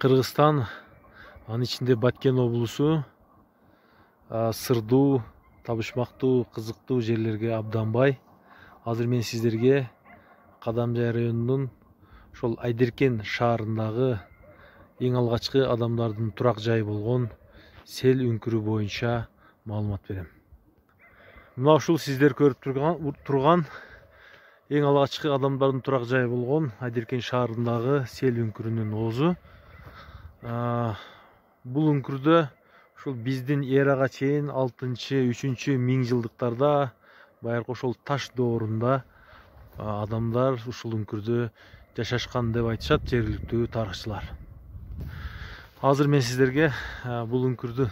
Кыргызстан, анын ичинде Баткен облусу сырдуу, табышмактуу, кызыктуу жерлерге абдан бай. Азыр мен сиздерге Кадамжай районунун ошол Айдеркен шаарындагы эң алгачкы адамдардын турак жайы болгон Сел үңкүрү боюнча маалымат берем. Мына ушул сиздер көрүп турган эң алгачкы адамдардын турак жайы болгон Айдеркен шаарындагы Сел үңкүрүнүн оозу. Бул үңкүрдө ушул биздин эрага чейин 6-3 миң жылдыктарда байыркы ошол таш доорунда адамдар ушул үңкүрдө жашашкан деп айтышат жергиликтүү тарыхчылар. Азыр мен сиздерге бул үңкүрдү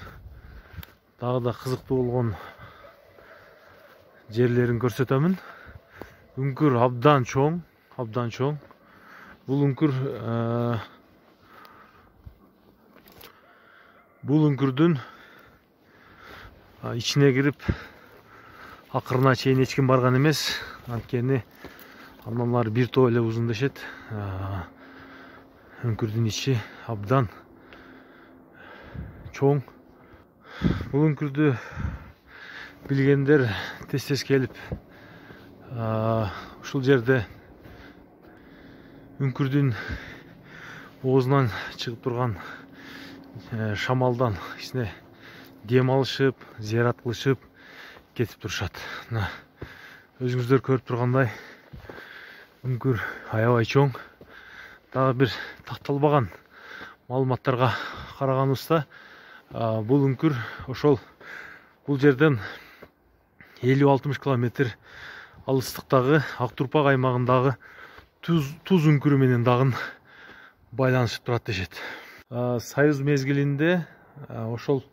дагы да кызыктуу болгон жерлерин көрсөтөмүн. Үңкүр абдан чоң. Бул үңкүрдүн ичине кирип акырына чейин эч ким барган эмес. Анткени андан ары бир топ эле узун дешет. Үңкүрдүн ичи абдан чоң. Бул үңкүрдү билгендер тез келип ушул жерде үңкүрдүн оозунан чыгып турган шамалдан кичине дем алышып, зыярат кылышып кетип турушат. Өзүңүздөр көрүп тургандай үңкүр аябай чоң. Дагы бир такталбаган маалыматтарга караганыбызда бул үңкүр ошол бул жерден 50-60 километр алыстыктагы Ак Турпак аймагындагы Туз үңкүрү менен дагы байланышып турат дешет. Союз мезгилинде ошол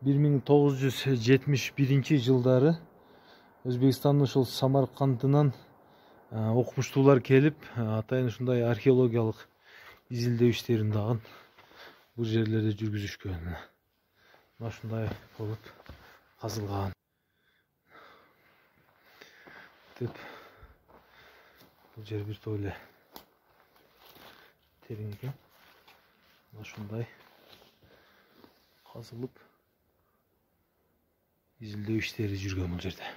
1971 жылдары Өзбекстандын ошол Самаркандынан окумуштуулар келип, атайын ушундай археологиялык изилдөө иштерин дагы бул жерлерде жүргүзүшкөн. Ушундай болуп казылган. Бул жер бир топ эле терең экен. Ушундай казылып изилдөө иштери жүргөн бул жерде.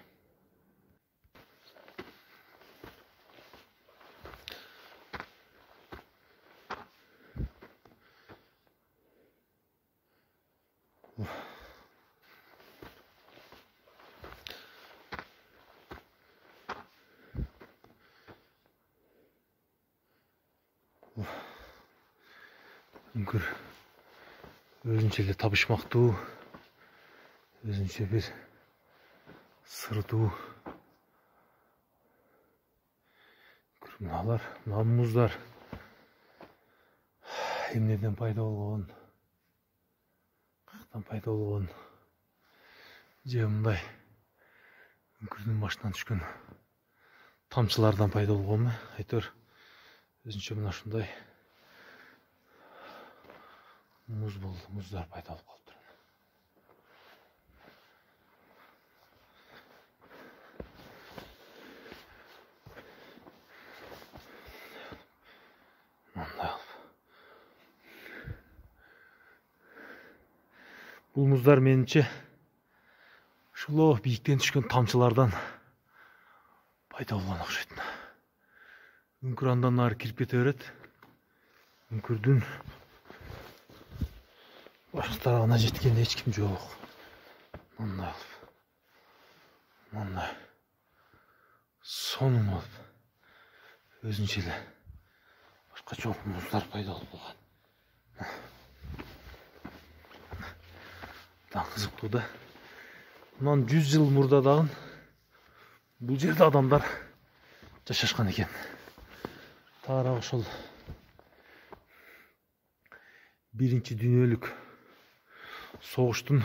Үңкүр өзүнчө эле табышмактуу, өзүнчө бир сырдуу. Мына муздар эмнеден пайда болгон, каяктан пайда болгон, же мындай үңкүрдүн башынан түшкөн тамчылардан пайда болгонбу? Айтор өзүнчө мына ушундай муздар пайда болуп калыптыр. Бул муздар менимче ушул бийиктен түшкөн тамчылардан пайда болгон окшойт. Үңкүр андан ары кирип кете берет. Үңкүрдүн башкы тарабына жеткенде эч ким жок. Мындай сонун болуп өзүнчө эле башкача муздар пайда болуп калган. Кызыктуу да. Мындан 100 жыл мурда дагы бул жерде адамдар жашашкан экен. Таарак ошол биринчи дүйнөлүк согуштун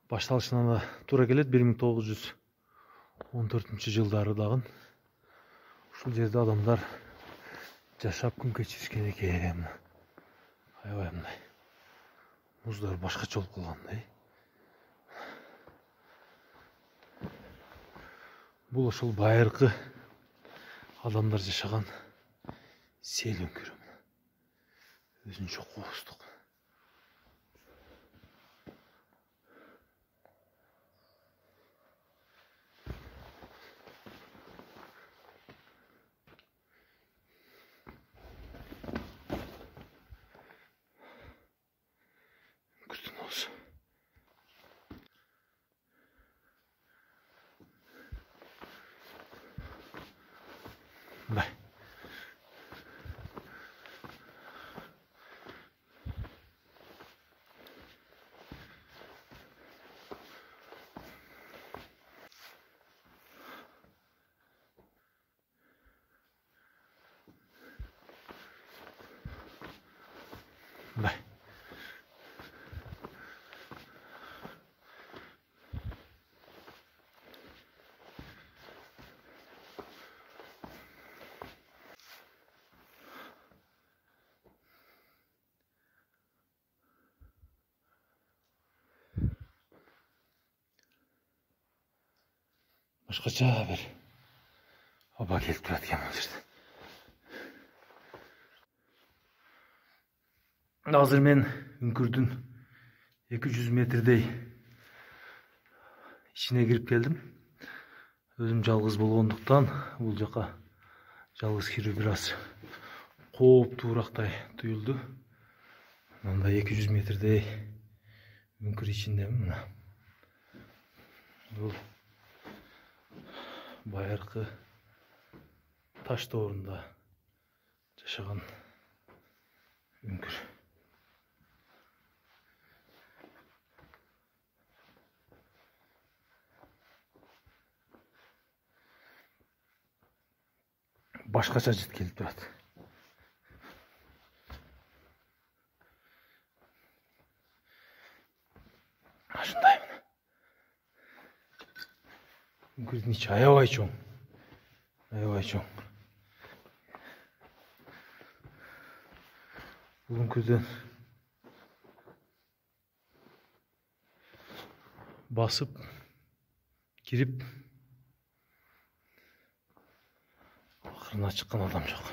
башталышына да туура келет. 1914 жылдары дагы ушул жерде адамдар жашап күн кечиришкен экен. Аябай мындай муздар башкача болуп калгандай. Бул ошол байыркы адамдар жашаган Сел үңкүрү. өзүнчө кооздук. Күтүн болсо. Бай. Бай. Башкача бир аба келип турат экен бул жерде. Азыр мен үңкүрдүн 200 метрдей ичине кирип келдим. Өзүм жалгыз болгондуктан бул жака жалгыз кирүү бир аз кооптуурактай туюлду. Мындай 200 метрдей үңкүр ичиндемин мына. Бул байыркы таш доорунда жашаган үңкүр. Башкача жыт келип турат. Ашындай мына. Үңкүрдүн ичи аябай чоң. Аябай чоң. Бул үңкүрдөн басып кирип акырына чыккан адам жок.